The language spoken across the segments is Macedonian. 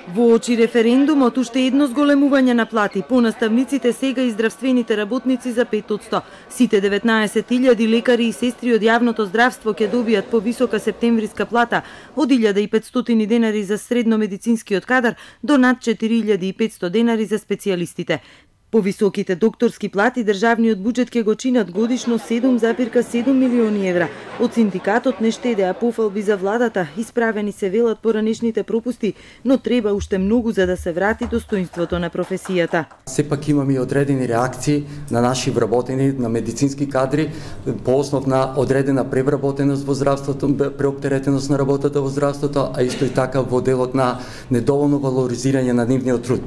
Во очи референдумот уште едно зголемување на плати по наставниците сега и здравствените работници за 5%. Сите 19.000 лекари и сестри од јавното здравство ќе добијат повисока септемвриска плата од 1.500 денари за средно медицинскиот кадар до над 4.500 денари за специјалистите. Повисоките докторски плати државниот буџет ќе го чинат годишно 7,7 милиони евра. Од синдикатот не штедеа пофалби за владата, исправени се велат поранешните пропусти, но треба уште многу за да се врати достоинството на професијата. Сепак имаме одредени реакции на наши вработени, на медицински кадри, по основ на одредена превработеност во здравството, преоптеретеност на работата во здравството, а исто и така во делот на недоволно валоризирање на нивниот труд.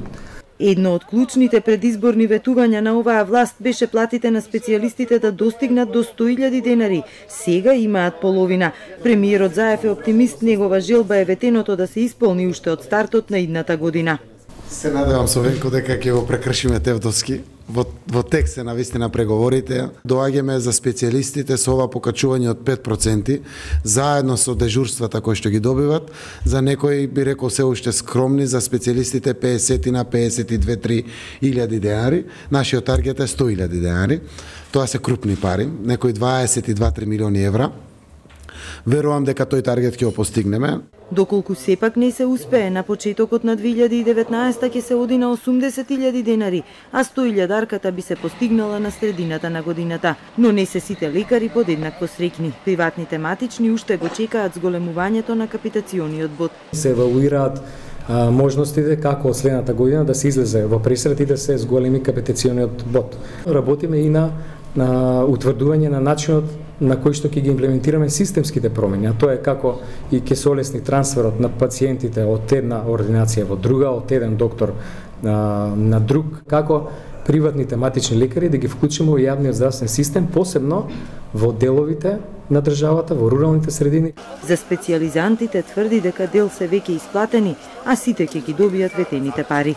Едно од клучните предизборни ветувања на оваа власт беше платите на специјалистите да достигнат до 100.000 денари. Сега имаат половина. Премиерот Заев е оптимист, негова желба е ветеното да се исполни уште од стартот на идната година. Се надевам со Венко дека ќе го прекршиме Тевдовски. Во текст се навистина преговорите. Доаѓаме за специјалистите со ова покачување од 5%, заедно со дежурствата кои што ги добиват. За некои би рекол се уште скромни, за специјалистите 50 на 52-3 илјади денари. Нашиот таргет е 100.000 денари. Тоа се крупни пари, некои 22-3 милиони евра. Верувам дека тој таргет ќе го постигнеме. Доколку сепак не се успее, на почетокот на 2019 ќе се оди на 80.000 денари, а 100.000-арката би се постигнала на средината на годината. Но не се сите лекари подеднакво среќни. Приватните матични уште го чекаат зголемувањето на капитациониот бод. Се евалуираат можностите како од следната година да се излезе во пресрет и да се зголеми капитациониот бод. Работиме и на утврдување на начинот на кој што ќе ги имплементираме системските промени, а тоа е како и ќе се олесни трансферот на пациентите од една ординација во друга, од еден доктор на друг, како приватните матични лекари да ги вклучиме во јавниот здравствен систем, посебно во деловите на државата, во руралните средини. За специјализантите тврди дека дел се веќе исплатени, а сите ќе ги добијат ветените пари.